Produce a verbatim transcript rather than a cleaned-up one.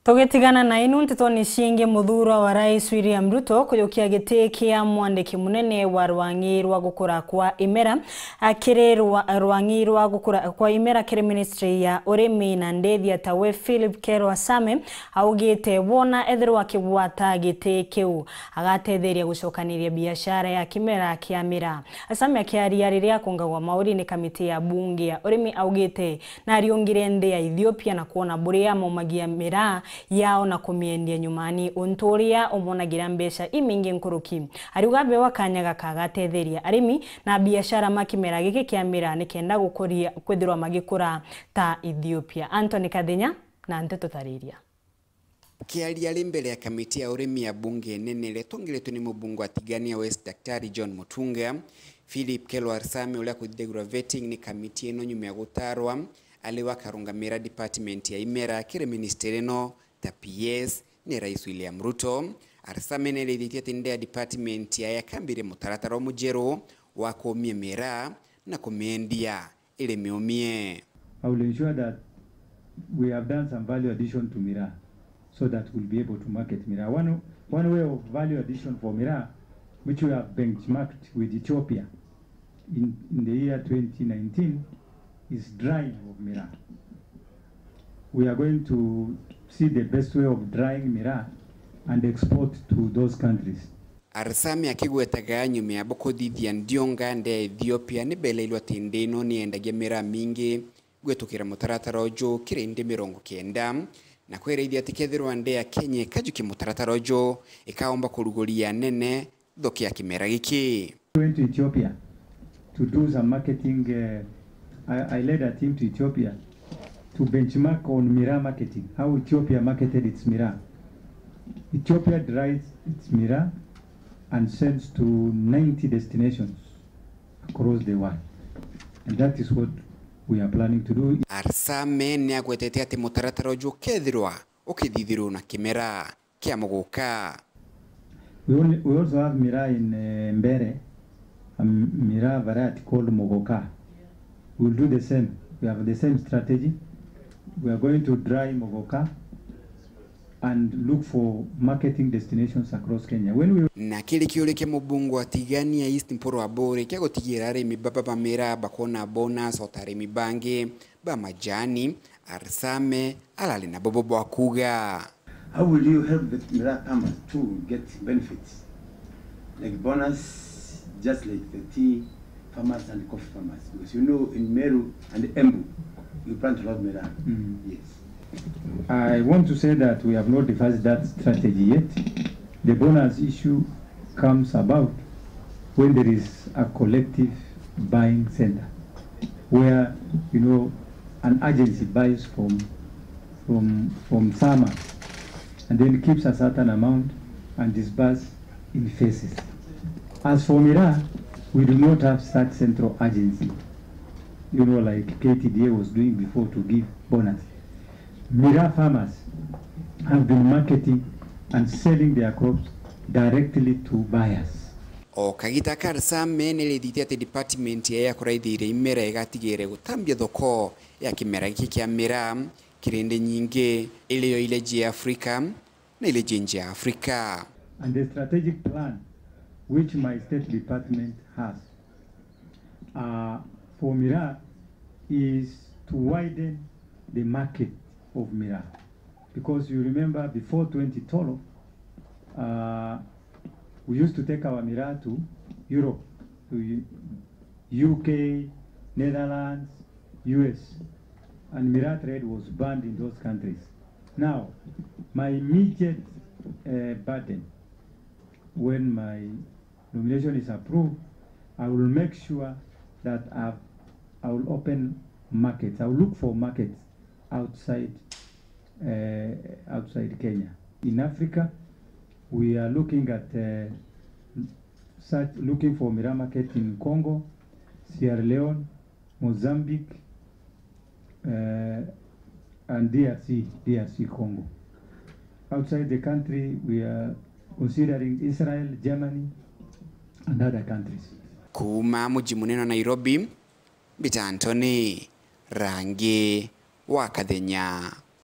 Tugitigana na inu ntetoni ciingi, muthurwa wa Rais William Ruto kujukia giti kia mwandiki munene wa rwang'i rwa gukura kwa imera, a, kiri rwa-, rwang'i rwa gukura kwa imera kiri ministry ya urimi na ndithia tawe Philip Kelwa Same augite wona ethirwa akigwata giti kiu, agatetheria gucokaniria biashara ya kimera kia miraa. Same akiaria riria akungagwa mauri ni kamiti ya bunge ya urimi augite nariungire nthi ya Ethiopia na kwona buria maumagia miraa yao na kumiendia nyumani, untu uria umonagira mbeca imingi nkuruki. Ariuga abewa kanya gaka agatetheria arimi na biashara ma kimera giki kia miraa nikenda gukuria kwithirwa magikura ta Ethiopia. Anthony Kathenya na nteto tariria. Akiaria ari mbere ya kamiti ya urimi ya bunge nene iria itongeretwe ni mubunge wa Tigania West, Daktari John Mutunga, Philip Kelwa Arsame, uria kuthithagirwa vetting ni kamiti ino nyuma ya gutarwa ari we akarungamira department ya imera kiri ministry ino ta P S ni Rais William Ruto. Arsame ni arithitie ati ndea department yae akambiria mutaratara umujeru wa kuumia miraa na kumiendia iri miumie. I will ensure that we have done some value addition to miraa so that we'll be able to market miraa. One, one way of value addition for miraa, which we have benchmarked with Ethiopia in, in the year twenty nineteen, is drying of miraa. We are going to see the best way of drying miraa and export to those countries. Arsame akigwetaga nyuma ya bo kuthithia ndionga nde ya Ethiopia, ni beleirwe ati nthi ino ni yendagia miraa mingi gwitukira mutaratara uju kiri nthi mirongo kenda, na kwiraithia ati kethirwa nde ya Kenya ikajukia mutaratara uju, ikaomba kuruguria nene thoko ya kimera giki. Went to Ethiopia to do some marketing. Uh, I, I led a team to Ethiopia to benchmark on miraa marketing, how Ethiopia marketed its miraa. Ethiopia dries its miraa and sends to ninety destinations across the world. And that is what we are planning to do. Arsame ni agwetete ati mutaratara uju ukethirwa ukithithirwa na kimera kia muguka. We only, we also have miraa in, uh, Mbeere, a m-, miraa variety called muguka. We'll do the same. We have the same strategy. We are going to dry muguka and look for marketing destinations across Kenya. When we... Na kiri kiuria kia mubunge wa Tigania East Mpuru Aburi kia gutigira arimi baba ba miraa bakona bonus o ta arimi bangi ba majani, Arsame arari na bubu bwa kuuga. How will you help the miraa farmers to get benefits like bonus, just like the tea farmers and coffee farmers? Because you know in Meru and Embu, you plant a lot of miraa. Mm. Yes. I want to say that we have not devised that strategy yet. The bonus issue comes about when there is a collective buying center where, you know, an agency buys from, from, from farmers and then keeps a certain amount and disburse in phases. As for miraa, we do not have such central agency, you know, like K T D A was doing before to give bonus. Miraa farmers have been marketing and selling their crops directly to buyers. O kagita ka Arsame ni rithitie ati department yae ya kuraithiria imera igatigire gutambia thoko ya kimera giki kia miraa kiri nthi nyingi, irio iri nja ya Afrika na irio iri nja ya Afrika. And the strategic plan which my state department has, uh, for miraa is to widen the market of miraa. Because you remember before twenty twelve, uh, we used to take our miraa to Europe, to U-, U K, Netherlands, U S, and miraa trade was banned in those countries. Now, my immediate, uh, burden when my nomination is approved, I will make sure that I've, I will open markets. I will look for markets outside, uh, outside Kenya. In Africa, we are looking at, uh, such, looking for miraa market in Congo, Sierra Leone, Mozambique, uh, and D R C, D R C Congo. Outside the country, we are considering Israel, Germany, and other countries. Kuuma muji munene wa Nairobi, mbita Anthony Rangi wa Kathenya.